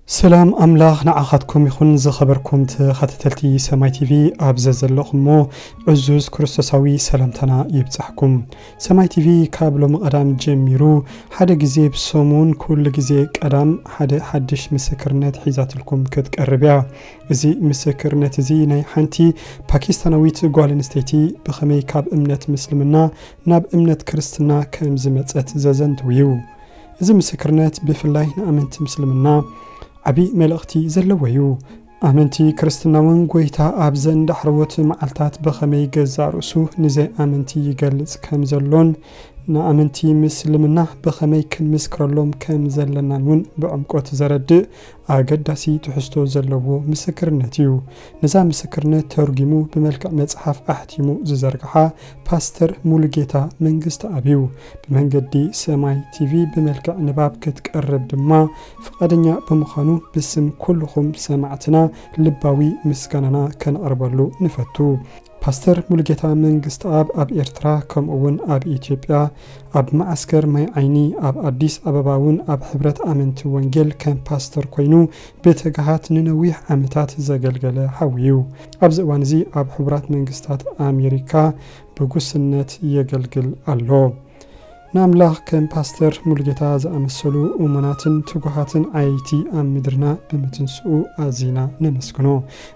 ሰላም ኣምላኽ ንዓኻትኩም ይኹን። ዝኸበርኩም ተኸታተልቲ ሰማይ ቲቪ፣ ኣብ ዘዘለኹሞ ዕዙዝ ክርስቶሳዊ ሰላምታና ይብጻሕኩም። ሰማይ ቲቪ ካብ ሎሚ ቀዳም ጀሚሩ ሓደ ግዜ ብሰሙን፣ ኩሉ ግዜ ቀዳም ሓደ ሓድሽ ምስክርነት ሒዛትልኩም ክትቀርብ እያ። እዚ ምስክርነት እዚ ናይ ሓንቲ ፓኪስታናዊት ጓል ኣንስተይቲ ብኸመይ ካብ እምነት ምስልምና ናብ እምነት ክርስትና ከም ዝመጸት ዘዘንትው እዩ። እዚ ምስክርነት ብፍላይ ንኣመንቲ ምስልምና ዓቢ መልእኽቲ ዘለዎ እዩ። ኣመንቲ ክርስትና እውን ጎይታ ኣብዘን ዳሕረዎት መዓልታት ብኸመይ ገዛእ ርእሱ ንዘይኣመንቲ ይገልጽ ከም ዘሎን ንኣመንቲ ምስልምና ብኸመይ ክንምስክረሎም ከም ዘለናን እውን ብዕምቆት ዘረድእ ኣገዳሲ ትሕዝቶ ዘለዎ ምስክርነት እዩ። ነዛ ምስክርነት ተርጒሙ ብመልክዕ መጽሓፍ ኣሕቲሙ ዝዘርግሓ ፓስተር ሙሉጌታ መንግስተኣብ እዩ። ብመንገዲ ሰማይ ቲቪ ብመልክዕ ንባብ ክትቀርብ ድማ ፍቓደኛ ብምዃኑ ብስም ኩልኹም ሰማዕትና ልባዊ ምስጋናና ከነቕርበሉ ንፈቱ። ፓስተር ሙሉጌታ መንግስተኣብ ኣብ ኤርትራ ከምኡ እውን ኣብ ኢትዮጵያ ኣብ መዓስከር ማይ ዓይኒ ኣብ ኣዲስ ኣበባ እውን ኣብ ሕብረት ኣመንቲ ወንጌል ከም ፓስተር ኮይኑ ብትግሃት ንነዊሕ ዓመታት ዘገልገለ ሓዊ እዩ። ኣብዚ እዋን እዚ ኣብ ሕቡራት መንግስታት ኣሜሪካ ብጉስነት የገልግል ኣሎ። ንኣምላኽ ከም ፓስተር ሙሉጌታ ዝኣመሰሉ እሙናትን ትጉሃትን ዓየይቲ ኣብ ምድርና ብምትንስኡ ኣዚና ነመስግኖ።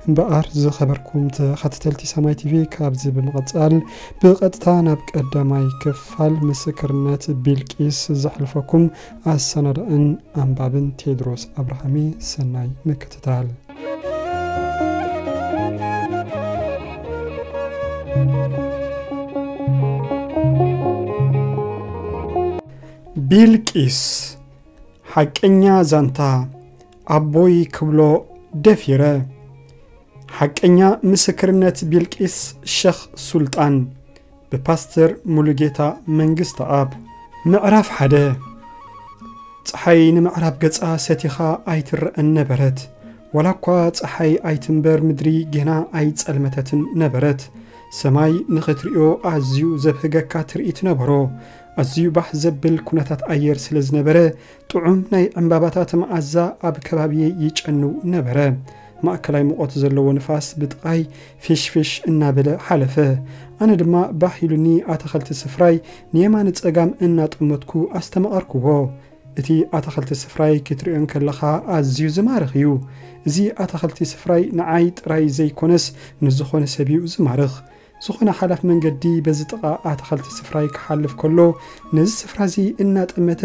እምበኣር ዝኸበርኩም ተኸታተልቲ ሰማይ ቲቪ፣ ካብዚ ብምቕጻል ብቐጥታ ናብ ቀዳማይ ክፋል ምስክርነት ቢልቂስ ዘሕልፈኩም ኣሰናዳእን ኣንባብን ቴድሮስ ኣብርሃሜ። ሰናይ ምክትታል። ቢልቂስ። ሓቀኛ ዛንታ። ኣቦይ ክብሎ ደፊረ። ሓቀኛ ምስክርነት ቢልቂስ ሸኽ ሱልጣን፣ ብፓስተር ሙሉጌታ መንግስተኣብ። ምዕራፍ ሓደ። ጸሓይ ንምዕራብ ገጻ ሰቲኻ ኣይትረኣን ነበረት። ዋላ እኳ ጸሓይ ኣይትንበር፣ ምድሪ ጌና ኣይጸልመተትን ነበረት። ሰማይ ንኽትርእዮ ኣዝዩ ዘብህገካ ትርኢት ነበሮ። ኣዝዩ ባህ ዘብል ኩነታት ኣየር ስለ ዝነበረ፣ ጥዑም ናይ ዕምባባታት መኣዛ ኣብ ከባቢየይ ይጨንው ነበረ። ማእከላይ ሙቐት ዘለዎ ንፋስ ብጥቓይ ፊሽፊሽ እናበለ ሓለፈ። ኣነ ድማ ባህ ኢሉኒ ኣታኸልቲ ስፍራይ ንየማን ጸጋም እናጠመትኩ ኣስተማቐርኩዎ። እቲ ኣታኸልቲ ስፍራይ ክትርእዮ እንከለኻ ኣዝዩ ዝማርኽ እዩ። እዚ ኣታኸልቲ ስፍራይ ንዓይ ጥራይ ዘይኮነስ ንዝኾነ ሰብ እዩ ዝማርኽ። ዝኾነ ሓላፍ መንገዲ በዚ ጥቓ ኣታኸልቲ ስፍራይ ክሓልፍ ከሎ ነዚ ስፍራ እዚ እናጠመተ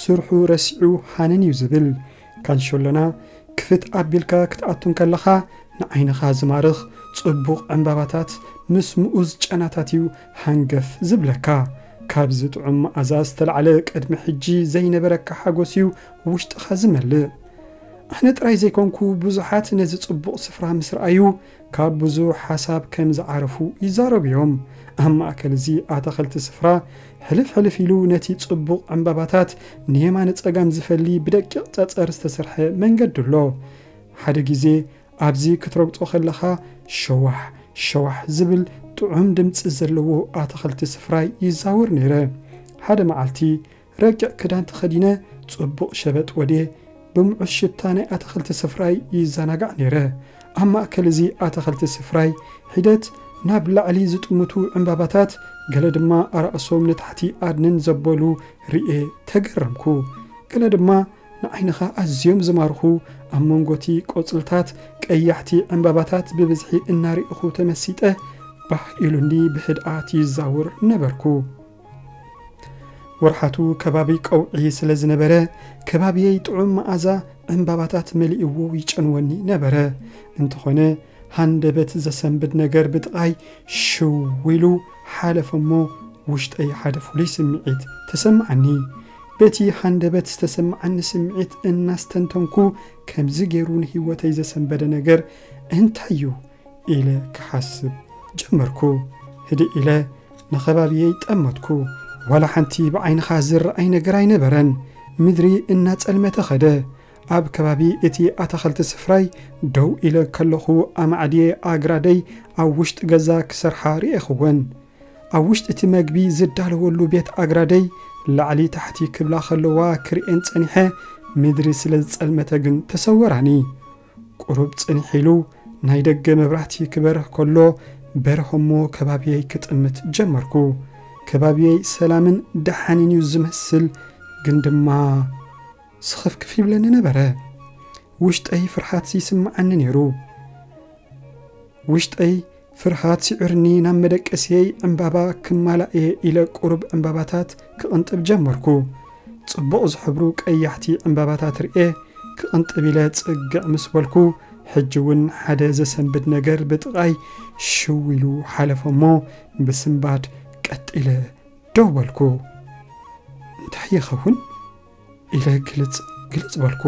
ስርሑ ረሲዑ ሃነን እዩ ዝብል። ካንሸሎና ክፍት ኣቢልካ ክትኣቱ እንከለኻ ንዓይንኻ ዝማርኽ ጽቡቕ ዕምባባታት ምስ ምኡዝ ጨናታት እዩ ሃንገፍ ዝብለካ። ካብዚ ጥዑም መኣዛ ዝተላዕለ ቅድሚ ሕጂ ዘይነበረካ ሓጎስ እዩ ውሽጥኻ ዝመልእ። ኣነ ጥራይ ዘይኮንኩ ብዙሓት ነዚ ጽቡቕ ስፍራ ምስ ረኣዩ ካብ ብዙሕ ሓሳብ ከም ዝዓረፉ ይዛረቡ እዮም። ኣብ ማእከል እዚ ኣታኸልቲ ስፍራ ሕልፍ ሕልፍ ኢሉ ነቲ ጽቡቕ ዕምባባታት ንየማነ ጸጋም ዝፈሊ ብደቂቕ ጸጸር ዝተሰርሐ መንገዲ ኣሎ። ሓደ ግዜ ኣብዚ ክትረግጾ ከለኻ ሸዋሕ ሸዋሕ ዝብል ጥዑም ድምጺ ዘለዎ ኣታኸልቲ ስፍራይ ይዛወር ነይረ። ሓደ መዓልቲ ረቂቕ ክዳን ተኸዲነ ጽቡቕ ሸበጥ ወድየ ብምዑስ ሽታ ናይ ኣታኸልቲ ስፍራይ ይዘናጋዕ ነይረ። ኣብ ማእከል እዚ ኣታኸልቲ ስፍራይ ሒደት ናብ ላዕሊ ዝጥምቱ ዕምባባታት፣ ገለ ድማ ኣራእሶም ንታሕቲ ኣድንን ዘበሉ ርእየ ተገረምኩ። ገለ ድማ ንዓይንኻ ኣዝዮም ዝማርኹ ኣብ መንጎቲ ቆጽልታት ቀያሕቲ ዕምባባታት ብብዝሒ እናርኢኹ ተመሲጠ ባህ ኢሉኒ ብህድኣት ይዛውር ነበርኩ። ወርሓቱ ከባቢ ቀውዒ ስለ ዝነበረ፣ ከባቢየይ ጥዑም መኣዛ ዕምባባታት መሊእዎ ይጨንወኒ ነበረ። እንተኾነ፣ ሃንደበት ዘሰንብድ ነገር ብጥቓይ ሽው ኢሉ ሓለፈ እሞ፣ ውሽጠይ ሓደ ፍሉይ ስምዒት ተሰምዓኒ። በቲ ሃንደበት ዝተሰምዓኒ ስምዒት እናስተንተንኩ ከምዚ ገይሩ ንህይወተይ ዘሰንበደ ነገር እንታይ እዩ ኢለ ክሓስብ ጀመርኩ። ህድእ ኢለ ንኸባቢየይ ጠመትኩ። ዋላ ሓንቲ ብዓይንኻ ዝረኣይ ነገር ኣይነበረን። ምድሪ እናጸልመተ ኸደ። ኣብ ከባቢ እቲ ኣታኸልቲ ስፍራይ ደው ኢለ ከለኹ ኣማዕድየ ኣግራደይ ኣብ ውሽጢ ገዛ ክሰርሓ ርኤኽወን። ኣብ ውሽጢ እቲ መግቢ ዝዳለወሉ ቤት ኣግራደይ ላዕሊ ታሕቲ ክብላ ከለዋ ክርእየን ጸኒሐ ምድሪ ስለ ዝጸልመተ ግን ተሰወራኒ። ቁሩብ ጽንሕ ኢሉ ናይ ደገ መብራህቲ ክበርህ ከሎ በርህ እሞ ከባብየይ ክጥምት ጀመርኩ። ከባብየይ ሰላምን ደሓንን እዩ ዝመስል፣ ግን ድማ ስኽፍክፍ ይብለኒ ነበረ። ውሽጠይ ፍርሃት ይስምዓኒ ነይሩ። ውሽጠይ ፍርሃት ሲዑርኒ ናብ መደቀስየይ ዕምባባ ክማላእ እየ ኢለ ቁሩብ ዕምባባታት ክቕንጥብ ጀመርኩ። ጽቡቕ ዝሕብሩ ቀያሕቲ ዕምባባታት ርኤ ክቕንጥብ ኢለ ጽግዕ ምስ በልኩ፣ ሕጂ እውን ሓደ ዘሰንብድ ነገር ብጥቓይ ሽው ኢሉ ሓለፈ እሞ ብስንባድ ቀጥ ኢለ ደው በልኩ። እንታይ ይኸውን? ኢለ ግልጽ ግልጽ በልኩ።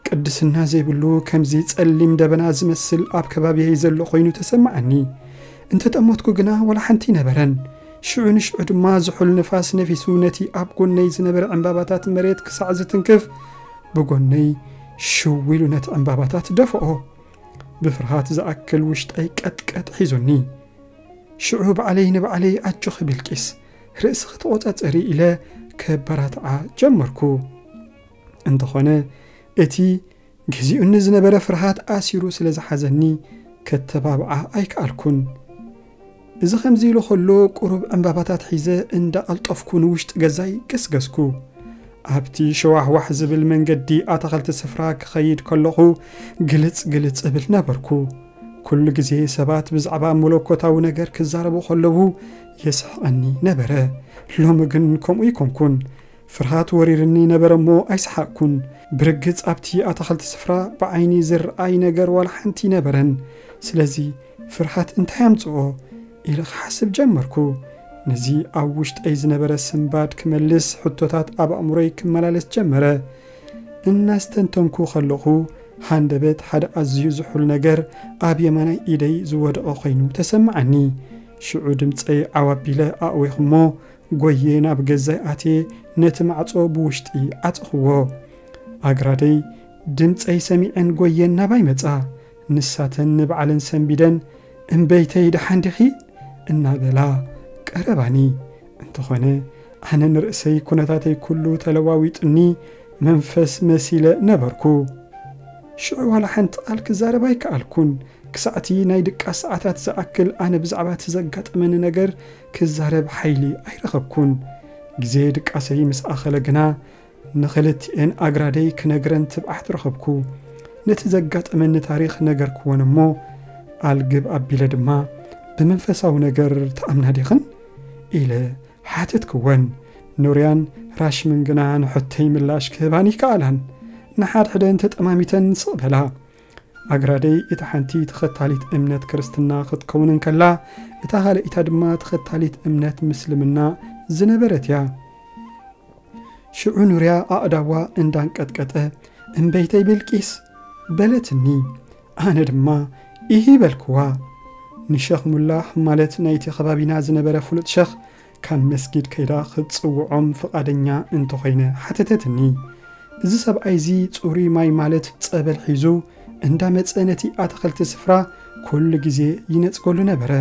ቅድስና ዘይብሉ ከምዚ ጸሊም ደበና ዝመስል ኣብ ከባቢየይ ዘሎ ኮይኑ ተሰማዓኒ። እንተጠመትኩ ግና ወላ ሓንቲ ነበረን። ሽዑ ንሽዑ ድማ ዝሑል ንፋስ ነፊሱ ነቲ ኣብ ጎነይ ዝነበረ ዕምባባታት መሬት ክሳዕ ዝትንክፍ ብጎነይ ሽው ኢሉ ነቲ ዕምባባታት ደፍኦ። ብፍርሃት ዝኣክል ውሽጠይ ቀጥቀጥ ሒዙኒ። ሽዑ ባዕለይ ንባዕለይ ኣጆኺ ቢልቂስ፣ ርእስኺ ተቖጻጸሪ ኢለ ከበራትዓ ጀመርኩ። እንተኾነ እቲ ገዚኡኒ ዝነበረ ፍርሃት ኣሲሩ ስለ ዝሓዘኒ ከተባብዓ ኣይከኣልኩን። እዚ ከምዚ ኢሉ ከሎ ቁሩብ ዕምባባታት ሒዘ እንዳቐልጠፍኩ ንውሽጢ ገዛይ ገስገስኩ። ኣብቲ ሸዋሕዋሕ ዝብል መንገዲ ኣታኸልቲ ስፍራ ክኸይድ ከለኹ ግልጽ ግልጽ እብል ነበርኩ። ኩሉ ግዜ ሰባት ብዛዕባ መለኮታዊ ነገር ክዛረቡ ከለዉ የስሕቐኒ ነበረ። ሎሚ ግን ከምኡ ኣይኮንኩን። ፍርሃት ወሪርኒ ነበረ እሞ ኣይሰሓቕኩን። ብርግጽ ኣብቲ ኣታኸልቲ ስፍራ ብዓይኒ ዝረኣይ ነገር ዋላ ሓንቲ ነበረን። ስለዚ ፍርሃት እንታይ ኣምጽኦ ኢለ ክሓስብ ጀመርኩ። ነዚ ኣብ ውሽጠይ ዝነበረ ስንባድ ክመልስ ሕቶታት ኣብ ኣእምሮይ ክመላለስ ጀመረ። እናስተንተንኩ ከለኹ ሃንደበት ሓደ ኣዝዩ ዝሑል ነገር ኣብ የማናይ ኢደይ ዝወደቐ ኮይኑ ተሰማዓኒ። ሽዑ ድምጸይ ዓው ኣቢለ ኣእዌኹ እሞ ጎየ ናብ ገዛይ ኣትየ ነቲ ማዕጾ ብውሽጢ ዓጸኽዎ። ኣግራደይ ድምጸይ ሰሚዐን ጎየን ናባይ መጻ። ንሳተን ንባዕለን ሰንቢደን፣ "እምበይተይ ደሓን ዲኺ?" እናበላ ቀረባኒ። እንተኾነ ኣነ ንርእሰይ ኩነታተይ ኩሉ ተለዋዊጡኒ መንፈስ መሲለ ነበርኩ። ሽዑ ዋላ ሓንቲ ቃል ክዛረብ ኣይከኣልኩን። ክሳዕቲ ናይ ድቃስ ሰዓታት ዝኣክል ኣነ ብዛዕባ እቲ ዘጋጠመኒ ነገር ክዛረብ ሓይሊ ኣይረኸብኩን። ግዜ ድቃሰይ ምስ ኣኸለ ግና ንኽልቲኤን ኣግራደይ ክነግረን ትብዓት ረኸብኩ። ነቲ ዘጋጠመኒ ታሪኽ ነገርክወን እሞ ኣልግብ ኣቢለ ድማ፣ "ብመንፈሳዊ ነገር ትኣምና ዲኽን?" ኢለ ሓተትክወን። ኑርያን ራሽምን ግና ንሕቶይ ምላሽ ክህባን ይከኣላን። ንሓድሕደን ተጠማሚተን ስቕ በላ። ኣግራደይ እታ ሓንቲ ተኸታሊት እምነት ክርስትና ክትከውን እንከላ፣ እታ ካልኣይታ ድማ ተኸታሊት እምነት ምስልምና ዝነበረት እያ። ሽዑ ኑርያ ኣእዳዋ እንዳንቀጥቀጠ፣ "እምበይተይ ብልቂስ?" በለትኒ። ኣነ ድማ፣ "ኢሂ" በልክዋ። ንሸኽ ሙላህ ማለት ናይቲ ከባቢና ዝነበረ ፍሉጥ ሸኽ ካብ መስጊድ ከይዳ ክትጽውዖም ፍቓደኛ እንተኾይነ ሓተተትኒ። እዚ ሰብኣይ እዚ ጽሩይ ማይ ማለት ጸበል ሒዙ እንዳመጸ ነቲ ኣታኸልቲ ስፍራ ኩሉ ግዜ ይነጽገሉ ነበረ።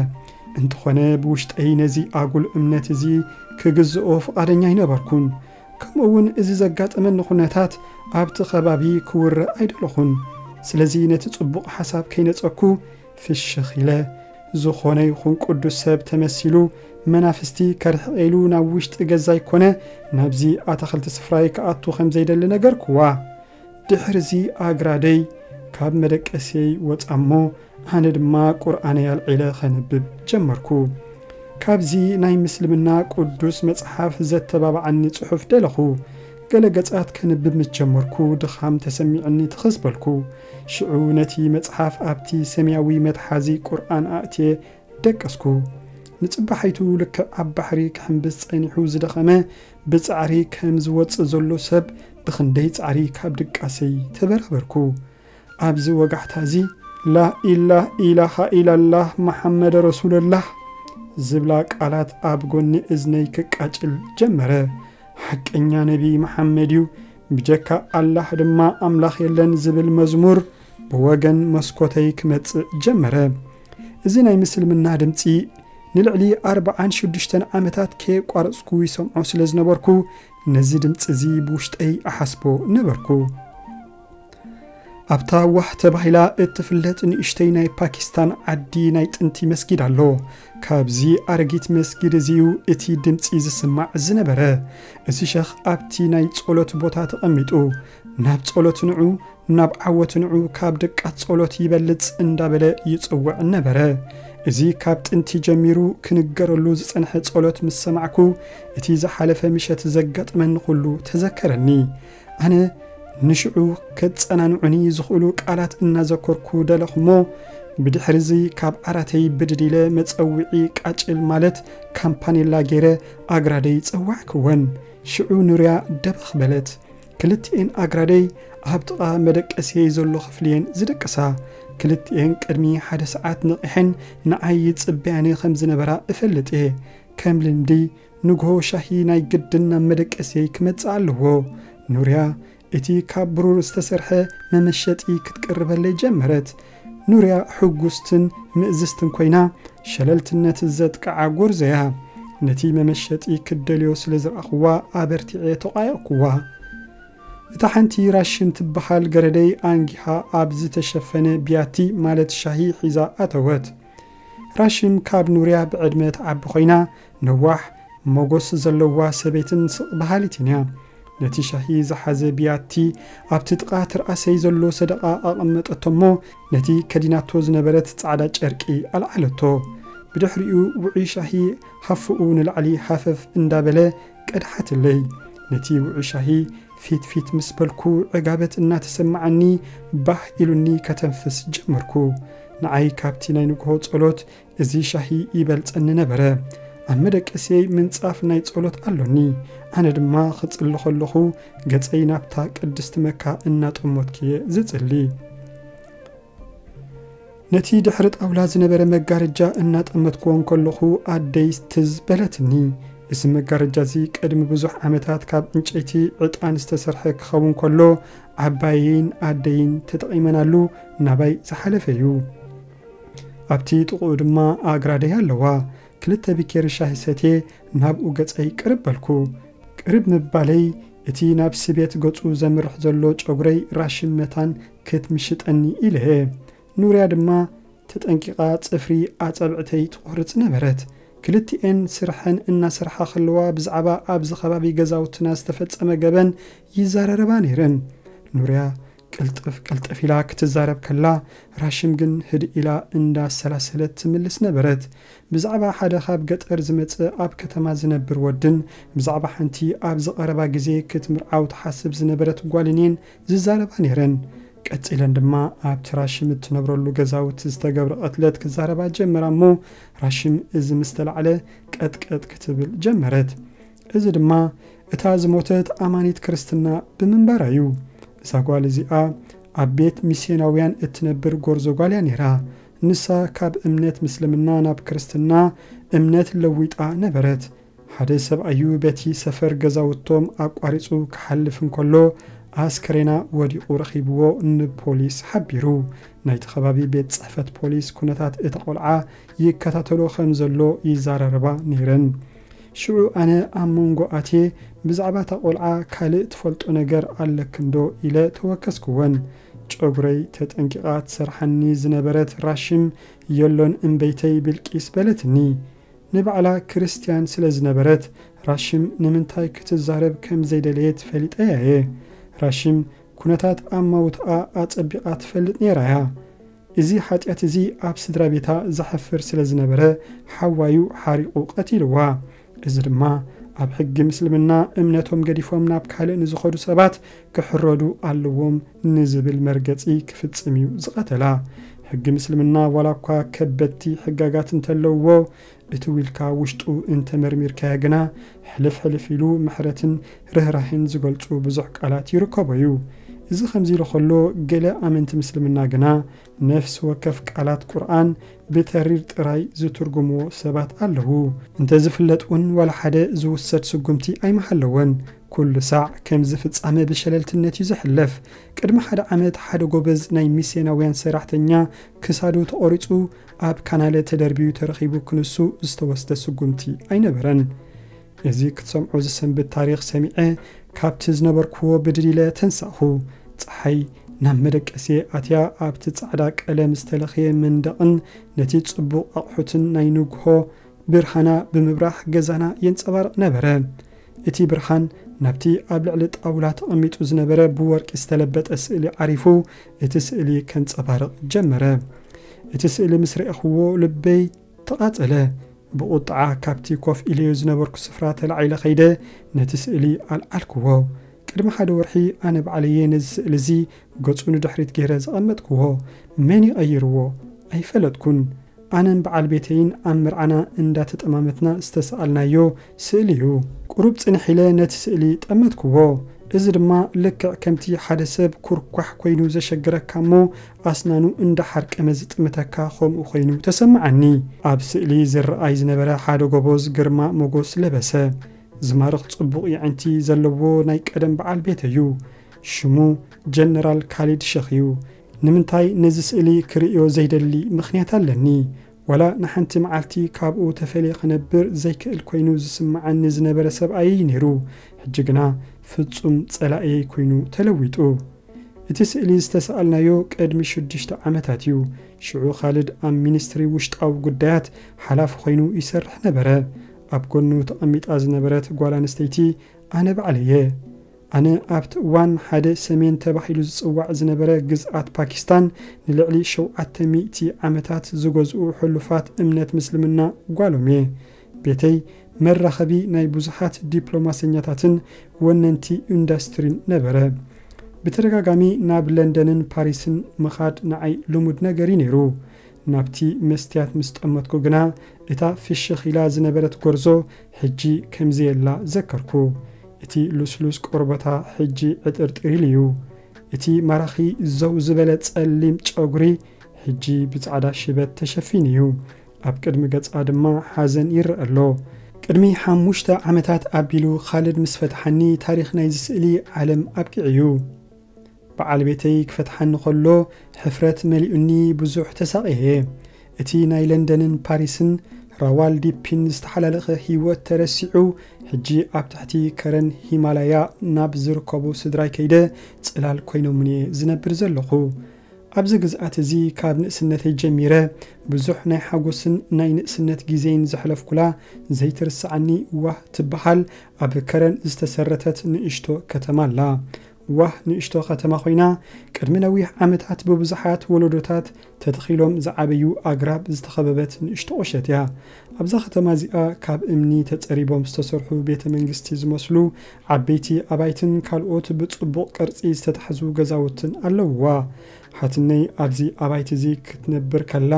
እንተኾነ ብውሽጠይ ነዚ ኣጉል እምነት እዚ ክግዝኦ ፍቓደኛ ኣይነበርኩን። ከምኡ እውን እዚ ዘጋጠመኒ ኩነታት ኣብቲ ከባቢ ክውረ ኣይደለኹን። ስለዚ ነቲ ጽቡቕ ሓሳብ ከይነጸኩ ፍሽኽ ኢለ፣ ዝኾነ ይኹን ቅዱስ ሰብ ተመሲሉ መናፍስቲ ከርሕቕ ኢሉ ናብ ውሽጢ ገዛይ ኮነ ናብዚ ኣታኽልቲ ስፍራይ ክኣቱ ከም ዘይደሊ ነገርክዋ። ድሕርዚ ኣግራደይ ካብ መደቀስየይ ወጻ እሞ፣ ኣነ ድማ ቁርኣነይ ኣልዒለ ኸንብብ ጀመርኩ። ካብዚ ናይ ምስልምና ቅዱስ መጽሓፍ ዘተባብዓኒ ጽሑፍ ደለኹ። ገለ ገጻት ከንብብ ምስ ጀመርኩ፣ ድኻም ተሰሚዑኒ ትኽዝ በልኩ። ሽዑ ነቲ መጽሓፍ ኣብቲ ሰማያዊ መትሓዚ ቁርኣን ኣእትየ ደቀስኩ። ንጽባሒቱ ልክዕ ኣብ ባሕሪ ክሕምብስ ጸኒሑ ዝደኸመ፣ ብጻዕሪ ከም ዝወጽእ ዘሎ ሰብ፣ ብኽንደይ ጻዕሪ ካብ ድቃሰይ ተበራበርኩ። ኣብዚ ወጋሕታ እዚ፣ "ላኢላህ ኢላሃ ኢላላህ መሓመድ ረሱሉላህ" ዝብላ ቃላት ኣብ ጎኒ እዝነይ ክቃጭል ጀመረ። "ሓቀኛ ነቢ መሓመድ እዩ፣ ብጀካ ኣላህ ድማ ኣምላኽ የለን" ዝብል መዝሙር ብወገን መስኮተይ ክመጽእ ጀመረ። እዚ ናይ ምስልምና ድምጺ ንልዕሊ ኣርባዓን ሽዱሽተን ዓመታት ከየቋረጽኩ ይሰምዖ ስለ ዝነበርኩ፣ ነዚ ድምጺ እዚ ብውሽጠይ እሓስቦ ነበርኩ። ኣብታ ዋህ ተባሂላ እትፍለጥ ንእሽተይ ናይ ፓኪስታን ዓዲ ናይ ጥንቲ መስጊድ ኣሎ። ካብዚ ኣረጊት መስጊድ እዚ እዩ እቲ ድምጺ ዝስማዕ ዝነበረ። እዚ ሸኽ ኣብቲ ናይ ጸሎት ቦታ ተቐሚጡ፣ ናብ ጸሎት ንዑ፣ ናብ ዓወት ንዑ፣ ካብ ድቃት ጸሎት ይበልጽ እንዳበለ ይጽውዕ ነበረ። እዚ ካብ ጥንቲ ጀሚሩ ክንገረሉ ዝጸንሐ ጸሎት ምስ ሰማዕኩ፣ እቲ ዝሓለፈ ምሸት ዘጋጠመኒ ኩሉ ተዘከረኒ። ኣነ ንሽዑ ከጸናንዑኒ ዝኽእሉ ቃላት እናዘከርኩ ደለኹ እሞ፣ ብድሕሪ እዚ ካብ ዓራተይ ብድድ ኢለ መጸውዒ ቃጭል ማለት ካምፓኔላ ገይረ ኣግራደይ ጸዋዕክወን። ሽዑ ኑርያ ደበኽ በለት። ክልቲኤን ኣግራደይ ኣብ ጥቓ መደቀስየይ ዘሎ ክፍሊ እየን ዝደቅሳ። ክልቲኤን ቅድሚ ሓደ ሰዓት ነቒሐን ንዓይ ይጽበያኒ ከም ዝነበራ እፈልጥ እየ። ከም ልምዲ ንግሆ ሻሂ ናይ ግድን ናብ መደቀስየይ ክመጽእ ኣለዎ። ኑርያ እቲ ካብ ብሩር ዝተሰርሐ መመሸጢ ክትቅርበለይ ጀመረት። ኑርያ ሕጉስትን ምእዝዝትን ኮይና፣ ሸለልትነት ዘጥቅዓ ጎርዞ እያ። ነቲ መመሸጢ ክትደልዮ ስለ ዝረኣኽዋ ኣበርቲዐ ተቋየቕኩዋ። እታ ሓንቲ ራሽም ትበሃል ገረደይ ኣንጊሃ ኣብ ዝተሸፈነ ቢያቲ ማለት ሻሂ ሒዛ ኣተወት። ራሽም ካብ ኑርያ ብዕድመ ትዓቢ ኮይና፣ ነዋሕ ሞጎስ ዘለዋ ሰበይትን ስቕ በሃሊትን እያ። ነቲ ሻሂ ዝሓዘ ቢያቲ ኣብቲ ጥቓ ትርኣሰይ ዘሎ ሰደቓ ኣቐመጠቶ እሞ፣ ነቲ ከዲናቶ ዝነበረት ጻዕዳ ጨርቂ ኣልዓለቶ። ብድሕሪኡ ውዑይ ሻሂ ሃፍኡ ንላዕሊ ሃፈፍ እንዳበለ ቀድሓትለይ። ነቲ ውዑይ ሻሂ ፊት ፊት ምስ በልኩ ዕጋበት እናተሰማዓኒ ባህ ኢሉኒ ከተንፍስ ጀመርኩ። ንዓይ ካብቲ ናይ ንግሆ ጸሎት እዚ ሻሂ ይበልጸኒ ነበረ። ኣብ መደቀስየይ ምንጻፍ ናይ ጸሎት ኣሎኒ። ኣነ ድማ ክጽሊ ከለኹ ገጸይ ናብታ ቅድስቲ መካ እናጠሞትኩ እየ ዝጽሊ። ነቲ ድሕሪ ጣውላ ዝነበረ መጋረጃ እናጠመትክዎ እንከለኹ ኣደይ ትዝ በለትኒ። እዚ መጋረጃ እዚ ቅድሚ ብዙሕ ዓመታት ካብ ዕንጨይቲ ዕጣን ዝተሰርሐ ክኸውን ከሎ ዓባየይን ኣደይን ተጠቒመናሉ ናባይ ዝሓለፈ እዩ። ኣብቲ ጥቕኡ ድማ ኣግራደይ ኣለዋ። ክልተ ቢኬሪ ሻሂ ሰትየ ናብኡ ገጸይ ቅርብ በልኩ። ቅርብ ምባለይ እቲ ናብ ስቤት ገጹ ዘምርሕ ዘሎ ጨጉረይ ራሽን መታን ክትምሽጠኒ ኢለ እየ። ኑርያ ድማ ተጠንቂቓ ጽፍሪ ኣጻብዕተይ ትቖርጽ ነበረት። ክልቲኤን ስርሐን እናሰርሓ ከለዋ ብዛዕባ ኣብዚ ከባቢ ገዛውትና ዝተፈጸመ ገበን ይዛረረባ ነይረን። ኑርያ ቅልጥፍ ቅልጥፍ ኢላ ክትዛረብ ከላ፣ ራሽም ግን ህድእ ኢላ እንዳሰላሰለት ትምልስ ነበረት። ብዛዕባ ሓደ ካብ ገጠር ዝመጸ ኣብ ከተማ ዝነብር ወድን ብዛዕባ ሓንቲ ኣብዚ ቀረባ ግዜ ክትምርዓው ትሓስብ ዝነበረት ጓልን እየን ዝዛረባ ነይረን። ቀጺለን ድማ ኣብቲ ራሽም እትነብረሉ ገዛውቲ ዝተገብረ ቅትለት ክዛረባ ጀመራ እሞ፣ ራሽም እዚ ምስ ተላዕለ ቀጥቀጥ ክትብል ጀመረት። እዚ ድማ እታ ዝሞተት ኣማኒት ክርስትና ብምንባራ እዩ። እዛ ጓል እዚኣ ኣብ ቤት ሚስዮናውያን እትነብር ጎርዞ ጓል እያ ነይራ። ንሳ ካብ እምነት ምስልምና ናብ ክርስትና እምነት ለዊጣ ነበረት። ሓደ ሰብኣዩ በቲ ሰፈር ገዛውቶም ኣቋሪጹ ክሓልፍ እንከሎ፣ ኣስከሬና ወዲቑ ረኺብዎ ንፖሊስ ሓቢሩ። ናይቲ ከባቢ ቤት ጽሕፈት ፖሊስ ኩነታት እታ ቆልዓ ይከታተሎ ከም ዘሎ ይዛራረባ ነይረን። ሽዑ ኣነ ኣብ መንጎ ኣትየ፣ "ብዛዕባ እታ ቆልዓ ካልእ ትፈልጦ ነገር ኣለክንዶ?" ኢለ ተወከስክወን። ጨጉረይ ተጠንቂቓ ትሰርሓኒ ዝነበረት ራሽም፣ "የሎን እምበይተይ ብልቂስ" በለትኒ። ንባዕላ ክርስትያን ስለ ዝነበረት፣ ራሽም ንምንታይ ክትዛረብ ከም ዘይደለየት ፈሊጠያ እየ። ራሽም ኩነታት ኣማውትኣ ኣጸቢቓ ትፈልጥ ነይራ እያ። እዚ ሓጢኣት እዚ ኣብ ስድራ ቤታ ዘሕፍር ስለ ዝነበረ፣ ሓዋዩ ሓሪቑ ቀቲልዋ። እዚ ድማ ኣብ ሕጊ ምስልምና እምነቶም ገዲፎም ናብ ካልእ ንዝኸዱ ሰባት ክሕረዱ ኣለዎም ንዝብል መርገጺ ክፍጽም እዩ ዝቐተላ። ሕጊ ምስልምና ዋላ እኳ ከበድቲ ሕጋጋት እንተለውዎ፣ እቲ ውልካ ውሽጡ እንተመርሚርካዮ ግና፣ ሕልፍ ሕልፍ ኢሉ ምሕረትን ርህራሄን ዝገልጹ ብዙሕ ቃላት ይርከቦ እዩ። እዚ ከምዚ ኢሉ ከሎ፣ ገለ ኣመንቲ ምስልምና ግና ነፍሲ ወከፍ ቃላት ቁርኣን ብተሪር ጥራይ ዝትርጉምዎ ሰባት ኣለዉ። እንተዝፍለጥ እውን ዋላ ሓደ ዝውሰድ ስጉምቲ ኣይምሃለወን። ኩሉ ሳዕ ከምዚ ፍጻመ ብሸለልትነት እዩ ዝሕለፍ። ቅድሚ ሓደ ዓመት ሓደ ጎበዝ ናይ ሚስዮናውያን ሰራሕተኛ ክሳዱ ተቖሪጹ ኣብ ካናለ ተደርቢዩ ተረኺቡ ክንሱ ዝተወስደ ስጉምቲ ኣይነበረን። እዚ ክትሰምዖ ዝሰንብት ታሪኽ ሰሚዐ ካብቲ ዝነበርክዎ ብድድ ኢለ ተንሳእኹ። ጸሓይ ናብ መደቀስየ ኣትያ ኣብቲ ጻዕዳ ቀለም ዝተለኽየ መንደቕን ነቲ ጽቡቕ ኣቑሑትን ናይ ንግሆ ብርሃና ብምብራህ ገዛና የንጸባርቕ ነበረ። እቲ ብርሃን ናብቲ ኣብ ልዕሊ ጣውላ ተቐሚጡ ዝነበረ ብወርቂ ዝተለበጠ ስእሊ ዓሪፉ እቲ ስእሊ ከንጸባርቕ ጀመረ። እቲ ስእሊ ምስ ረኣኽዎ ልበይ ተቓጸለ። ብቑጥዓ ካብቲ ኮፍ ኢለዮ ዝነበርኩ ስፍራ ተላዒለ ከይደ ነቲ ስእሊ ኣልዓልክዎ። ቅድሚ ሓደ ወርሒ ኣነ ባዕለየ ነዚ ስእሊ እዚ ገጹ ንድሕሪት ገይረ ዘቐመጥክዎ። መን ይቐይርዎ? ኣይፈለጥኩን። ኣነን በዓል ቤተይን ኣብ መርዓና እንዳተጠማመትና ዝተሰኣልናዮ ስእሊ እዩ። ቁሩብ ጽንሕ ኢለ ነቲ ስእሊ ጠመትክዎ። እዚ ድማ ልክዕ ከምቲ ሓደ ሰብ ኩርኳሕ ኮይኑ ዘሸግረካ እሞ ኣስናኑ እንዳሓርቀመ ዝጥምተካ ከምኡ ኮይኑ ተሰማዓኒ። ኣብ ስእሊ ዝረኣይ ዝነበረ ሓደ ጎቦዝ ግርማ ሞጎስ ለበሰ። ዝማርኽ ጽቡቕ የዕንቲ ዘለዎ ናይ ቀደም በዓል ቤት እዩ። ሽሙ ጀነራል ካሊድ ሸኽ እዩ። ንምንታይ ነዚ ስእሊ ክርእዮ ዘይደሊ ምኽንያት ኣለኒ። ዋላ ንሓንቲ መዓልቲ ካብኡ ተፈልየ ክነብር ዘይክእል ኮይኑ ዝስምዓኒ ዝነበረ ሰብኣየይ ነይሩ። ሕጂ ግና ፍጹም ጸላእየይ ኮይኑ ተለዊጡ። እቲ ስእሊ ዝተሰኣልናዮ ቅድሚ ሽዱሽተ ዓመታት እዩ። ሽዑ ካልድ ኣብ ሚኒስትሪ ውሽጣዊ ጉዳያት ሓላፊ ኮይኑ ይሰርሕ ነበረ። ኣብ ጎኑ ተቐሚጣ ዝነበረት ጓል ኣንስተይቲ ኣነ ባዕለየ። ኣነ ኣብቲ እዋን ሓደ ሰሜን ተባሂሉ ዝጽዋዕ ዝነበረ ግዝኣት ፓኪስታን ንልዕሊ ሸውዓተ ሚእቲ ዓመታት ዝገዝኡ ሕሉፋት እምነት ምስልምና ጓሎም እየ። ቤተይ መራኸቢ ናይ ብዙሓት ዲፕሎማሰኛታትን ወነንቲ ኢንዱስትሪን ነበረ። ብተደጋጋሚ ናብ ለንደንን ፓሪስን ምኻድ ንዓይ ልሙድ ነገር እዩ ነይሩ። ናብቲ መስትያት ምስ ጠመትኩ ግና እታ ፍሽኽ ኢላ ዝነበረት ጎርዞ ሕጂ ከምዘየላ ዘከርኩ። እቲ ልስሉስ ቆርበታ ሕጂ ዕጥርጥር ኢሉ እዩ። እቲ ማራኺ ዘው ዝበለ ጸሊም ጨጉሪ ሕጂ ብጻዕዳ ሽበት ተሸፊኑ እዩ። ኣብ ቅድሚ ገጻ ድማ ሓዘን ይረአ ኣሎ። ቅድሚ ሓሙሽተ ዓመታት ኣቢሉ ካልድ ምስ ፈትሓኒ ታሪኽ ናይዚ ስእሊ ዓለም ኣብቂዑ እዩ። በዓል ቤተይ ክፈትሓኒ ከሎ ሕፍረት መሊኡኒ ብዙሕ ተሳቕየ። እቲ ናይ ለንደንን ፓሪስን ራዋልዲፒን ዝተሓላለኸ ህይወት ተረሲዑ፣ ሕጂ ኣብ ትሕቲ ከረን ሂማላያ ናብ ዝርከቡ ስድራይ ከይደ ጽላል ኮይኖምኒ እየ ዝነብር ዘለኹ። ኣብዚ ግዝኣት እዚ ካብ ንእስነተይ ጀሚረ ብዙሕ ናይ ሓጎስን ናይ ንእስነት ግዜን ዘሕለፍኩላ ዘይትርሳዓኒ ዋህ ትበሃል ኣብ ከረን ዝተሰረተት ንእሽቶ ከተማ ኣላ። ዋህ ንእሽቶ ከተማ ኮይና ቅድሚ ነዊሕ ዓመታት ብብዙሓት ወለዶታት ተተኺሎም ዝዓበዩ ኣግራብ ዝተኸበበት ንእሽቶ ቁሸት እያ። ኣብዛ ከተማ እዚኣ ካብ እምኒ ተጸሪቦም ዝተሰርሑ ቤተ መንግስቲ ዝመስሉ ዓበይቲ ኣባይትን ካልኦት ብጽቡቕ ቅርጺ ዝተታሕዙ ገዛውትን ኣለውዋ። ሓትነይ ኣብዚ ኣባይቲ እዚ ክትነብር ከላ፣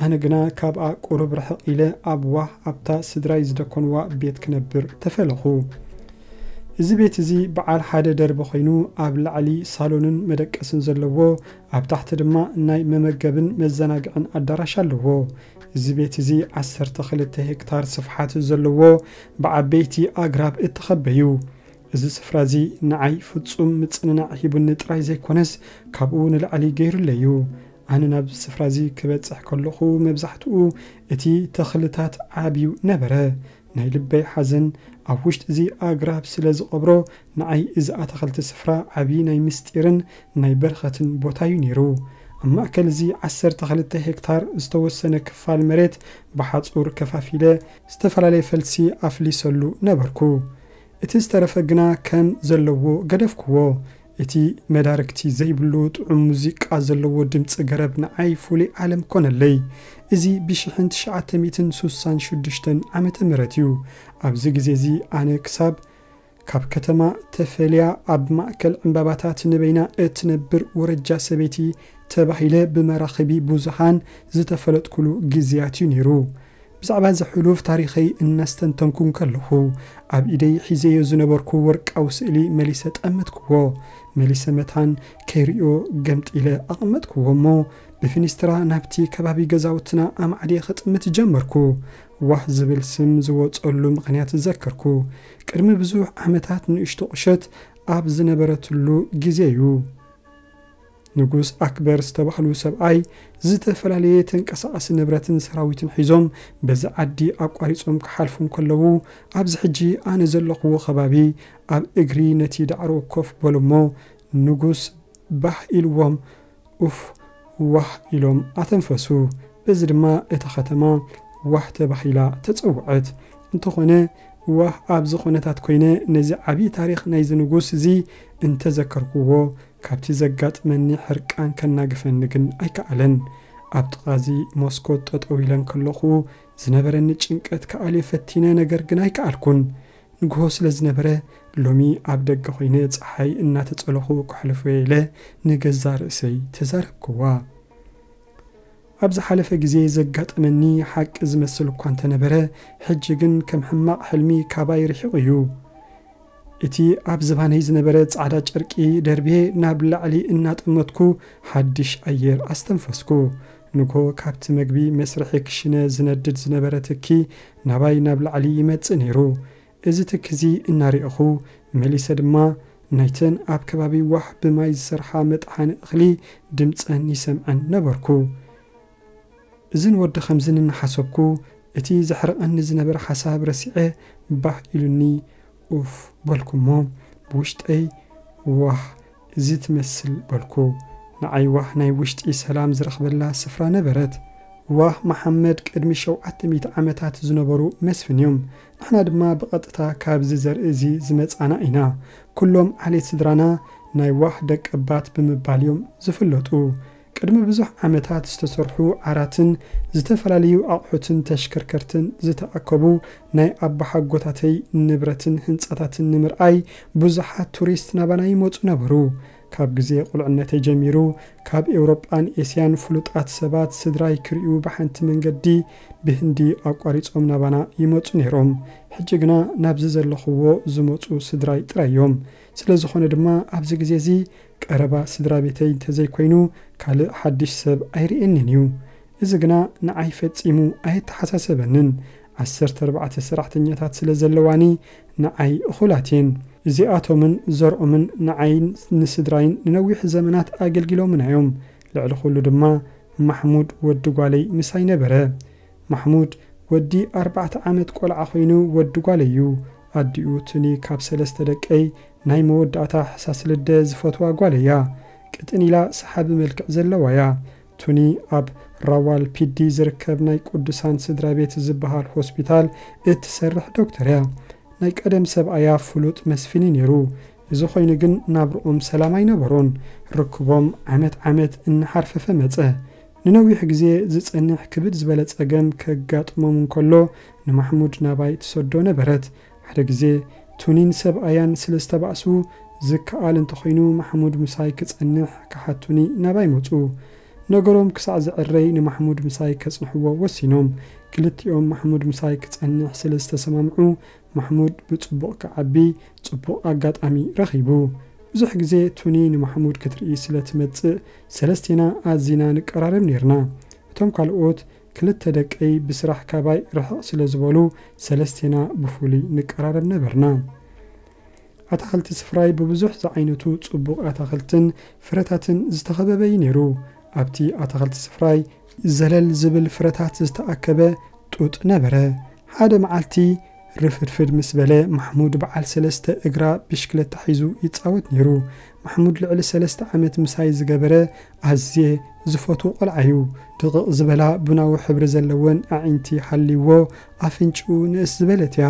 ኣነ ግና ካብኣ ቁሩብ ርሕቕ ኢለ ኣብ ዋህ ኣብታ ስድራይ ዝደኮንዋ ቤት ክነብር ተፈለኹ። እዚ ቤት እዚ በዓል ሓደ ደርቢ ኮይኑ፣ ኣብ ላዕሊ ሳሎንን መደቀስን ዘለዎ፣ ኣብ ታሕቲ ድማ ናይ መመገብን መዘናግዕን ኣዳራሽ ኣለዎ። እዚ ቤት እዚ ዓሰርተ ክልተ ሄክታር ስፍሓት ዘለዎ፣ ብዓበይቲ ኣግራብ እተኸበ እዩ። እዚ ስፍራ እዚ ንዓይ ፍጹም ምጽንናዕ ሂቡኒ ጥራይ ዘይኮነስ፣ ካብኡ ንላዕሊ ገይሩለይ እዩ። ኣነ ናብዚ ስፍራ እዚ ክበጽሕ ከለኹ፣ መብዛሕትኡ እቲ ተኽልታት ዓብዩ ነበረ። ናይ ልበይ ሓዘን ኣብ ውሽጢ እዚ ኣግራብ ስለ ዝቐብሮ፣ ንዓይ እዚ ኣታኽልቲ ስፍራ ዓቢ ናይ ምስጢርን ናይ በረኸትን ቦታ እዩ ነይሩ። ኣብ ማእከል እዚ ዓሰርተ ክልተ ሄክታር ዝተወሰነ ክፋል መሬት ብሓጹር ከፋፊለ፣ ዝተፈላለየ ፈልሲ ኣፍሊሰሉ ነበርኩ። እቲ ዝተረፈ ግና ከም ዘለዎ ገደፍክዎ። እቲ መዳርግቲ ዘይብሉ ጥዑም ሙዚቃ ዘለዎ ድምጺ ገረብ ንዓይ ፍሉይ ዓለም ኮነለይ። እዚ ብሽሕን ትሽዓተ ሚእትን ሱሳን ሽዱሽተን ዓመተ ምህረት እዩ። ኣብዚ ግዜ እዚ ኣነ ክሳብ ካብ ከተማ ተፈልያ ኣብ ማእከል ዕምባባታት ንበይና እትነብር ወረጃ ሰበይቲ ተባሂለ ብመራኽቢ ብዙሃን ዝተፈለጥኩሉ ግዜያት እዩ ነይሩ። ብዛዕባ እዚ ሕሉፍ ታሪኸይ እናስተንተንኩ እንከለኹ፣ ኣብ ኢደይ ሒዘዮ ዝነበርኩ ወርቃዊ ስእሊ መሊሰ ጠመትክዎ። መሊሰ መታን ከይርእዮ ገምጢለ ኣቐመጥክዎ እሞ፣ ብፊኒስትራ ናብቲ ከባቢ ገዛውትና ኣማዕድየ ክጥምት ጀመርኩ። ዋህ ዝብል ስም ዝወጸሉ ምኽንያት ዘከርኩ። ቅድሚ ብዙሕ ዓመታት ንእሽቶ ቁሸት ኣብ ዝነበረትሉ ግዜ እዩ። ንጉስ ኣክበር ዝተባህሉ ሰብኣይ ዝተፈላለየ ተንቀሳቓሲ ንብረትን ሰራዊትን ሒዞም በዚ ዓዲ ኣቋሪጾም ክሓልፉ እንከለዉ፣ ኣብዚ ሕጂ ኣነ ዘለኹዎ ከባቢ ኣብ እግሪ ነቲ ዳዕሮ ኮፍ በሉ እሞ፣ ንጉስ ባህ ኢልዎም ኡፍ ዋህ ኢሎም ኣተንፈሱ። በዚ ድማ እታ ከተማ ዋህ ተባሂላ ተጸውዐት። እንተኾነ ዋህ ኣብዚ ኩነታት ኮይነ ነዚ ዓቢ ታሪኽ ናይዚ ንጉስ እዚ እንተዘከርኩዎ፣ ካብቲ ዘጋጥመኒ ሕርቃን ከናግፈኒ ግን ኣይከኣለን። ኣብ ጥቓዚ መስኮት ጠጠው ኢለ እንከለኹ ዝነበረኒ ጭንቀት ክኣልዮ ፈቲነ፣ ነገር ግን ኣይከኣልኩን። ንግሆ ስለ ዝነበረ ሎሚ ኣብ ደገ ኮይነ ጸሓይ እናተጸለኹ ከሕልፎ ኢለ ንገዛ ርእሰይ ተዛረብክዋ። ኣብ ዝሓለፈ ግዜ ዘጋጠመኒ ሓቂ ዝመስል እኳ እንተነበረ፣ ሕጂ ግን ከም ሕማቕ ሕልሚ ካባይ ርሒቑ እዩ። እቲ ኣብ ዝባነይ ዝነበረ ጻዕዳ ጨርቂ ደርብየ ናብ ላዕሊ እናጠመትኩ ሓድሽ ኣየር ኣስተንፈስኩ። ንግሆ ካብቲ መግቢ መስርሒ ክሽነ ዝነድድ ዝነበረ ትኪ ናባይ ናብ ላዕሊ ይመጽእ ነይሩ። እዚ ትኪ እዚ እናርኣኹ መሊሰ ድማ ናይተን ኣብ ከባቢ ዋህ ብማይ ዝሰርሓ መጥሓኒ እኽሊ ድምጸን ይሰምዐን ነበርኩ። እዝን ወዲ ከምዝን እናሓሰብኩ እቲ ዘሕርቐኒ ዝነበረ ሓሳብ ረሲዐ ባህ ኢሉኒ ኡፍ በልኩ እሞ ብውሽጠይ ዋህ እዚ ትመስል በልኩ። ንዓይ ዋህ ናይ ውሽጢ ሰላም ዝረኽበላ ስፍራ ነበረት። ዋህ መሓመድ ቅድሚ ሸውዓተ ሚእቲ ዓመታት ዝነበሩ መስፍን እዮም። ንሕና ድማ ብቐጥታ ካብዚ ዘርኢ እዚ ዝመጻና ኢና። ኩሎም ዓሌት ስድራና ናይ ዋህ ደቀባት ብምባል እዮም ዝፍለጡ። ቅድሚ ብዙሕ ዓመታት ዝተሰርሑ ዓራትን ዝተፈላለዩ ኣቑሑትን ተሽከርከርትን ዝተኣከቡ ናይ ኣባሓጎታተይ ንብረትን ህንጻታትን ንምርኣይ ብዙሓት ቱሪስት ናባና ይመጹ ነበሩ። ካብ ግዜ ቁልዕነተይ ጀሚሩ ካብ ኤውሮጳን ኤስያን ፍሉጣት ሰባት ስድራይ ክርእዩ ብሓንቲ መንገዲ ብህንዲ ኣቋሪጾም ናባና ይመጹ ነይሮም። ሕጂ ግና ናብዚ ዘለኹዎ ዝመጹ ስድራይ ጥራይ እዮም። ስለ ዝኾነ ድማ ኣብዚ ግዜ እዚ ቀረባ ስድራ ቤተይ እንተዘይኮይኑ ካልእ ሓድሽ ሰብ ኣይርእየንን እዩ። እዚ ግና ንዓይ ፈጺሙ ኣየተሓሳሰበንን። ዓሰርተ ኣርባዕተ ሰራሕተኛታት ስለ ዘለዋኒ ንዓይ እኹላት እየን። እዚኣቶምን ዘርኦምን ንዓይን ንስድራይን ንነዊሕ ዘመናት ኣገልጊሎምና እዮም። ልዕሊ ኩሉ ድማ ማሕሙድ ወዲ ጓለይ ምሳይ ነበረ። ማሕሙድ ወዲ ኣርባዕተ ዓመት ቆልዓ ኮይኑ ወዲ ጓለይ እዩ። ኣዲኡ ቱኒ ካብ ሰለስተ ደቀይ ናይ መወዳእታ ሕሳስ ልደ ዝፈትዋ ጓል እያ። ቅጥን ኢላ ሰሓቢ መልክዕ ዘለዋ እያ። ቱኒ ኣብ ራዋል ፒዲ ዝርከብ ናይ ቅዱሳን ስድራ ቤት ዝበሃል ሆስፒታል እትሰርሕ ዶክተር እያ። ናይ ቀደም ሰብኣያ ፍሉጥ መስፍን እዩ ነይሩ። እዚ ኮይኑ ግን ናብርኦም ሰላም ኣይነበሮን። ርክቦም ዓመት ዓመት እናሓርፈፈ መጸ። ንነዊሕ ግዜ ዝጸንሕ ክብድ ዝበለ ጸገም ከጋጥሞም እንከሎ ንማሕሙድ ናባይ ትሰዶ ነበረት። ሓደ ግዜ ቱኒን ሰብኣያን ስለ ዝተባእሱ ዝከኣል እንተኾይኑ ማሕሙድ ምሳይ ክጸንሕ ክሓቱኒ ናባይ መጹ። ነገሮም ክሳዕ ዝዕረይ ንማሕሙድ ምሳይ ከጽንሕዎ ወሲኖም። ክልቲኦም ማሕሙድ ምሳይ ክጸንሕ ስለ ዝተሰማምዑ ማሕሙድ ብጽቡቕ ክዓቢ ጽቡቕ ኣጋጣሚ ረኺቡ። ብዙሕ ግዜ ቱኒ ንማሕሙድ ክትርኢ ስለ ትመጽእ ሰለስቴና ኣዚና ንቀራረብ ኔርና። እቶም ካልኦት ክልተ ደቀይ ብስራሕ ካባይ ርሕቕ ስለ ዝበሉ ሰለስቴና ብፍሉይ ንቀራረብ ነበርና። ኣታኽልቲ ስፍራይ ብብዙሕ ዝዓይነቱ ጽቡቕ ኣታኽልትን ፍረታትን ዝተኸበበ እዩ ነይሩ። ኣብቲ ኣታኽልቲ ስፍራይ ዘለል ዝብል ፍረታት ዝተኣከበ ጡጥ ነበረ። ሓደ መዓልቲ ርፍድፍድ ምስ በለ ማሕሙድ በዓል ሰለስተ እግራ ብሽክለታ ሒዙ ይጻወት ነይሩ። ማሕሙድ ልዕሊ ሰለስተ ዓመት ምሳይ ዝገበረ ኣዝየ ዝፈትዎ ቆልዓ እዩ። ድቕቕ ዝበላ ቡናዊ ሕብሪ ዘለወን ኣዒንቲ ሃልይዎ ኣፍንጭኡ ንእስ ዝበለት እያ።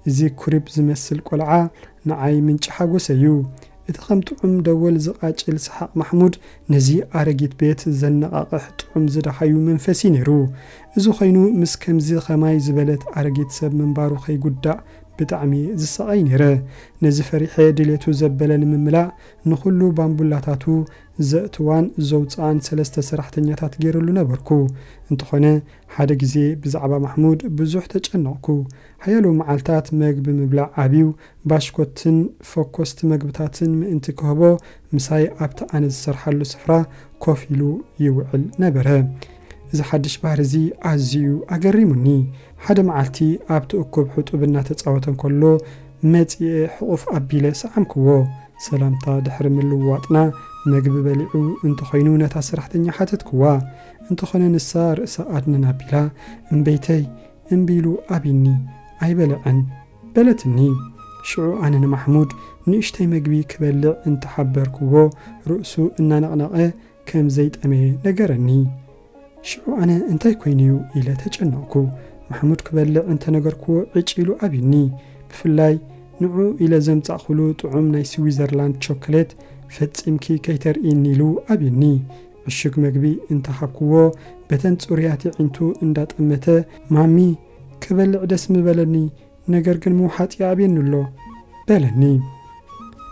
እዚ ኩሪብ ዝመስል ቆልዓ ንዓይ ምንጪ ሓጎሰ እዩ። እቲ ከም ጥዑም ደወል ዝቓጭል ሰሓቕ ማሕሙድ ነዚ ኣረጊት ቤት ዘነቓቕሕ ጥዑም ዝደሃዩ መንፈስ እዩ ነይሩ። እዚ ኮይኑ ምስ ከምዚ ኸማይ ዝበለት ኣረጊት ሰብ ምንባሩ ከይጉዳእ ብጣዕሚ ዝሰቓይ ነይረ። ነዚ ፈሪሐ ድሌቱ ዘበለ ንምምላእ ንኹሉ ባምቡላታቱ ዘእትዋን ዘውፅኣን ሰለስተ ሰራሕተኛታት ገይሩሉ ነበርኩ። እንተኾነ ሓደ ግዜ ብዛዕባ ማሕሙድ ብዙሕ ተጨነቕኩ። ሓያሎ መዓልታት መግቢ ምብላዕ ኣብዩ፣ ባሽኮትን ፈኮስቲ መግብታትን ምእንቲ ክህቦ ምሳይ ኣብቲ ኣነ ዝሰርሓሉ ስፍራ ኮፍ ኢሉ ይውዕል ነበረ። እዚ ሓድሽ ባህሪ እዚ ኣዝዩ ኣገሪሙኒ። ሓደ መዓልቲ ኣብቲ እኩብ ሕጡብ እናተጻወተ እንከሎ መጺኤ ሕቑፍ ኣቢለ ሰዓምክዎ። ሰላምታ ድሕሪ ምልውዋጥና መግቢ በሊዑ እንተኾይኑ ነታ ሰራሕተኛ ሓተትክዋ። እንተኾነ ንሳ ርእሳ ኣድንን ኣቢላ እምበይተይ እምቢ ኢሉ ኣብኒ ኣይበለዐን በለትኒ። ሽዑ ኣነ ንማሕሙድ ንእሽተይ መግቢ ክበልዕ እንተሓበርክዎ ርእሱ እናነቕነቐ ከም ዘይጠመየ ነገረኒ። ሽዑ ኣነ እንታይ ኮይኑ'ዩ ኢለ ተጨነቕኩ። ማሕሙድ ክበልዕ እንተነገርክዎ ዕጭ ኢሉ ኣብኒ። ብፍላይ ንዑ ኢለ ዘምጻእኩሉ ጥዑም ናይ ስዊዘርላንድ ቸኮሌት ፈጺምኪ ከይተርእይኒ ኢሉ ኣብኒ። ዕሹግ መግቢ እንተሃብክዎ በተን ጽሩያት ኣዒንቱ እንዳጠመተ ማሚ ክበልዕ ደስ ምበለኒ ነገር ግን ምውሓጥ ይኣብየኒ ኣሎ በለኒ።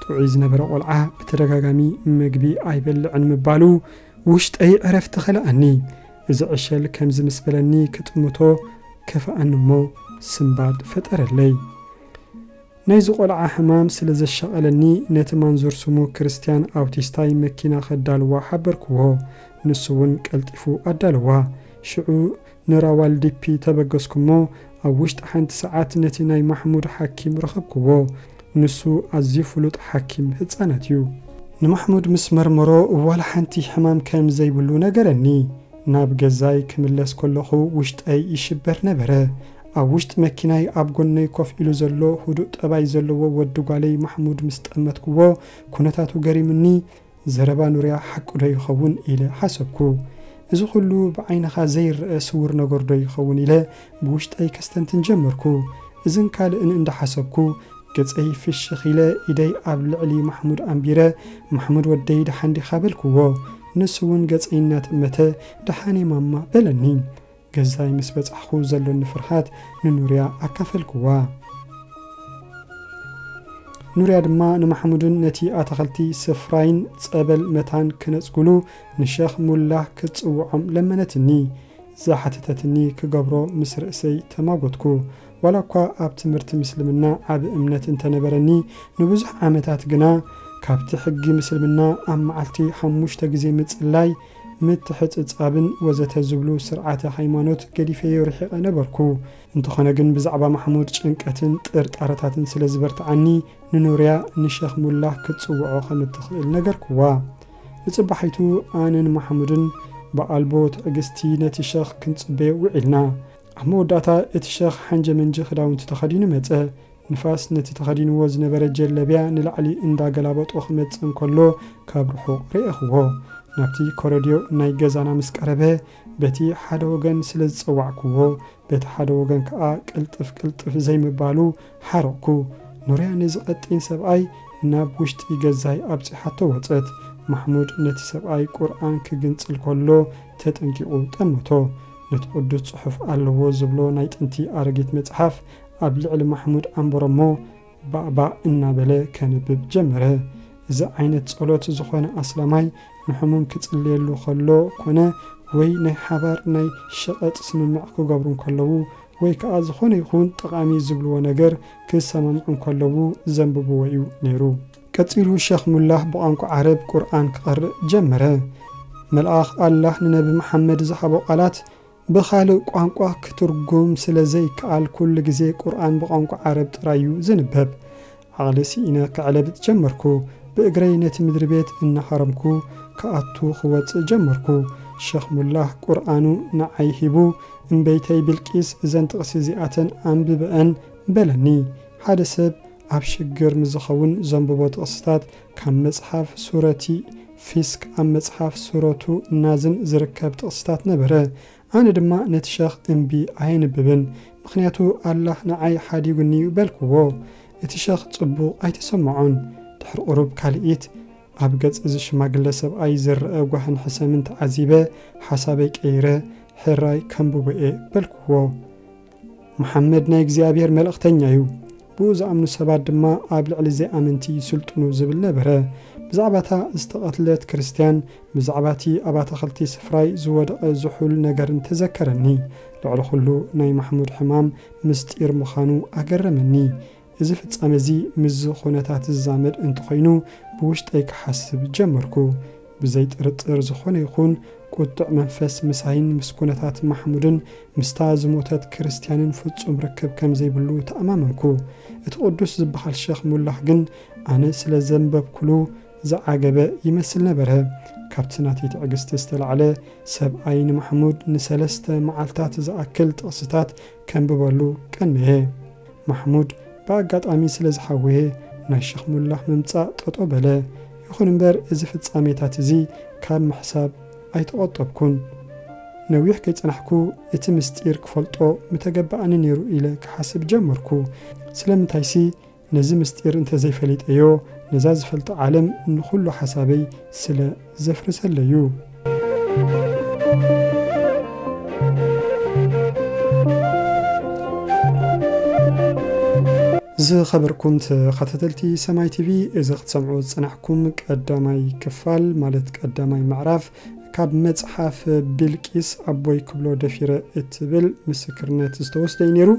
ጥዑይ ዝነበረ ቆልዓ ብተደጋጋሚ መግቢ ኣይበልዕን ምባሉ ውሽጠይ ዕረፍቲ ከለኣኒ። እዚ ዕሸል ከምዚ ምስ በለኒ ክጥምቶ ከፍኣኒ እሞ ስንባድ ፈጠረለይ። ናይዚ ቆልዓ ሕማም ስለ ዘሻቐለኒ ነቲ ማንዙር ስሙ ክርስትያን ኣውቲስታይ መኪና ከዳልዋ ሓበርክዎ። ንሱ እውን ቀልጢፉ ኣዳለዋ። ሽዑ ንራዋልዲፒ ተበገስኩሞ ኣብ ውሽጢ ሓንቲ ሰዓት ነቲ ናይ ማሕሙድ ሓኪም ረኸብክዎ። ንሱ ኣዝዩ ፍሉጥ ሓኪም ህጻናት እዩ። ንማሕሙድ ምስ መርመሮ ዋላ ሓንቲ ሕማም ከም ዘይብሉ ነገረኒ። ናብ ገዛይ ክምለስ ከለኹ ውሽጠይ ይሽበር ነበረ። ኣብ ውሽጢ መኪናይ ኣብ ጎነይ ኮፍ ኢሉ ዘሎ ህዱእ ጠባይ ዘለዎ ወዲ ጓለይ ማሕሙድ ምስ ጠመትክዎ ኩነታቱ ገሪምኒ። ዘረባ ኑርያ ሓቂ ዶ ይኸውን ኢለ ሓሰብኩ። እዚ ኩሉ ብዓይንኻ ዘይረአ ስውር ነገር ዶ ይኸውን ኢለ ብውሽጠይ ከስተንትን ጀመርኩ። እዝን ካልእን እንዳሓሰብኩ ገጸይ ፍሽኽ ኢለ ኢደይ ኣብ ልዕሊ ማሕሙድ ኣንቢረ፣ ማሕሙድ ወደይ ደሓን ዲኻ በልክዎ። ንሱ እውን ገጸይ እናጠመተ ደሓን እየ ማማ በለኒ። ገዛይ ምስ በጻሕኹ ዘሎኒ ፍርሃት ንኑርያ ኣካፈልክዋ። ኑርያ ድማ ንማሕሙድን ነቲ ኣታኸልቲ ስፍራይን ጸበል መታን ክነጽጉሉ ንሸኽ ሙላህ ክትጽውዖም ለመነትኒ። ዝሓተተትኒ ክገብሮ ምስ ርእሰይ ተማጎትኩ። ዋላ እኳ ኣብ ትምህርቲ ምስልምና ዓቢ እምነት እንተነበረኒ፣ ንብዙሕ ዓመታት ግና ካብቲ ሕጊ ምስልምና ኣብ መዓልቲ ሓሙሽተ ግዜ ምጽላይ፣ ምትሕጽጻብን ወዘተ ዝብሉ ስርዓተ ሃይማኖት ገዲፈዮ ርሒቐ ነበርኩ። እንተኾነ ግን ብዛዕባ ማሕሙድ ጭንቀትን ጥርጣረታትን ስለ ዝበርትዓኒ፣ ንኑርያ ንሸኽ ሙላህ ክትጽውዖ ከም እትኽእል ነገርክዋ። ንጽባሒቱ ኣነን ማሕሙድን ብኣልቦ ትዕግስቲ ነቲ ሸኽ ክንጽበዮ ውዒልና። ኣብ መወዳእታ እቲ ሸኽ ሓንጀ መንጀ ክዳውንቲ ተኸዲኑ መጸ። ንፋስ ነቲ ተኸዲንዎ ዝነበረ ጀለብያ ንላዕሊ እንዳገላበጦ ክመጽእ እንከሎ ካብ ርሑቕ ርኤኽዎ። ናብቲ ኮረድዮ ናይ ገዛና ምስ ቀረበ በቲ ሓደ ወገን ስለ ዝጸዋዕክዎ በቲ ሓደ ወገን ከኣ ቅልጥፍ ቅልጥፍ ዘይምባሉ ሓረቕኩ። ኑርያ ነዚ ቀጢን ሰብኣይ ናብ ውሽጢ ገዛይ ኣብጺሓቶ ወጸት። ማሕሙድ ነቲ ሰብኣይ ቁርኣን ክግንጽል ከሎ ተጠንቂቑ ጠመቶ። ነቲ ቅዱስ ጽሑፍ ኣለዎ ዝብሎ ናይ ጥንቲ ኣረጊት መጽሓፍ ኣብ ልዕሊ ማሕሙድ ኣንበሮሞ ባእባእ እናበለ ከንብብ ጀመረ። እዚ ዓይነት ጸሎት ዝኾነ ኣስላማይ ንሕሙም ክጽልየሉ ከሎ ኮነ ወይ ናይ ሓባር ናይ ሸቐጥ ስምምዕ ክገብሩ እንከለዉ ወይ ከኣ ዝኾነ ይኹን ጠቓሚ ዝብልዎ ነገር ክሰማምዑ እንከለዉ ዘንብብዎ እዩ ነይሩ። ቀጺሉ ሸኽ ሙላህ ብቋንቋ ዓረብ ቁርኣን ክቐርእ ጀመረ። መልኣኽ ኣላህ ንነቢ መሓመድ ዝሃቦ ቃላት ብኻልእ ቋንቋ ክትርጉም ስለ ዘይከኣል ኩሉ ግዜ ቁርኣን ብቋንቋ ዓረብ ጥራይ እዩ ዝንበብ። ዓቕሊ ስኢነ ክዕለብጥ ጀመርኩ። ብእግረይ ነቲ ምድሪ ቤት እናሃረምኩ ክኣቱ ክወጽእ ጀመርኩ። ሸኽ ሙላህ ቁርኣኑ ንዓይ ሂቡ እምበይተይ ብልቂስ እዘን ጥቕሲ እዚኣተን ኣንብበአን በለኒ። ሓደ ሰብ ኣብ ሽግር ምስ ዝኸውን ዘንብቦ ጥቕስታት ካብ መጽሓፍ ሱረቲ ፊስክ ኣብ መጽሓፍ ሱረቱ ናዝን ዝርከብ ጥቕስታት ነበረ። ኣነ ድማ ነቲ ሸኽ እምቢ ኣየንብብን፣ ምኽንያቱ ኣላህ ንዓይ ሓዲጉኒ እዩ በልክዎ። እቲ ሸኽ ጽቡቕ ኣይተሰምዖን። ድሕሪ ቁሩብ ካልኢት ኣብ ገጽ እዚ ሽማግለ ሰብኣይ ዝረኣ ጓህን ሕሰምን ተዓዚበ ሓሳበይ ቀይረ ሕራይ ከንብቦ እየ በልክዎ። መሓመድ ናይ እግዚኣብሔር መልእኽተኛ እዩ። ብኡ ዝኣምኑ ሰባት ድማ ኣብ ልዕሊ ዘይኣመንቲ ይስልጥኑ ዝብል ነበረ። ብዛዕባ እታ ዝተቐትለት ክርስትያን፣ ብዛዕባ እቲ ኣብ ኣታኽልቲ ስፍራይ ዝወደቐ ዝሑል ነገርን ተዘከረኒ። ልዕሊ ኩሉ ናይ ማሕሙድ ሕማም ምስጢር ምዃኑ ኣገረመኒ። እዚ ፍጻመ እዚ ምስዚ ኹነታት ዝዛመድ እንተኾይኑ ብውሽጠይ ክሓስብ ጀመርኩ። ብዘይ ጥርጥር ዝኾነ ይኹን ቁጥዕ መንፈስ ምሳይን ምስ ኩነታት ማሕሙድን ምስታ ዝሞተት ክርስትያንን ፍጹም ርክብ ከም ዘይብሉ ተኣማመንኩ። እቲ ቅዱስ ዝበሃል ሸኽ ሙላኽ ግን ኣነ ስለ ዘንበብኩሉ ዝዓገበ ይመስል ነበረ። ካብቲ ናተይ ትዕግስቲ ዝተላዕለ ሰብኣይ ንማሕሙድ ንሰለስተ መዓልታት ዝኣክል ጥቕስታት ከንብበሉ ቀነየ። ማሕሙድ ብኣጋጣሚ ስለ ዝሓወየ ናይ ሸኽ ሙላኽ ምምጻእ ጠጦ በለ። ይኹን እምበር እዚ ፍጻሜታት እዚ ካብ ምሕሳብ ኣይተቖጠብኩን። ነዊሕ ከይጸናሕኩ እቲ ምስጢር ክፈልጦ ምተገባኣኒ ነይሩ ኢለ ክሓስብ ጀመርኩ። ስለምንታይሲ ነዚ ምስጢር እንተዘይፈሊጠዮ ነዛ ዝፈልጣ ዓለም ንኹሉ ሓሳበይ ስለ ዘፍርሰለዩ። ዝኸበርኩም ተኸታተልቲ ሰማይ ቲቪ፣ እዚ ክትሰምዑ ዝጸናሕኩም ቀዳማይ ክፋል፣ ማለት ቀዳማይ ምዕራፍ ካብ መጽሓፍ ቢልቂስ ኣቦይ ክብሎ ደፊረ እትብል ምስክርነት ዝተወስደ እዩ ነይሩ።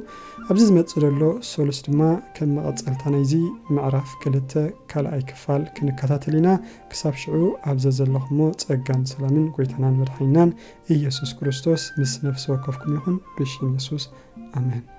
ኣብዚ ዝመጽእ ዘሎ ሰሉስ ድማ ከም መቐጸልታ ናይዚ ምዕራፍ ክልተ ካልኣይ ክፋል ክንከታተል ኢና። ክሳብ ሽዑ ኣብ ዘዘለኹሞ ጸጋን ሰላምን ጎይታናን መድሓኒናን ኢየሱስ ክርስቶስ ምስ ነፍሲ ወከፍኩም ይኹን። ብሽም የሱስ፣ ኣሜን።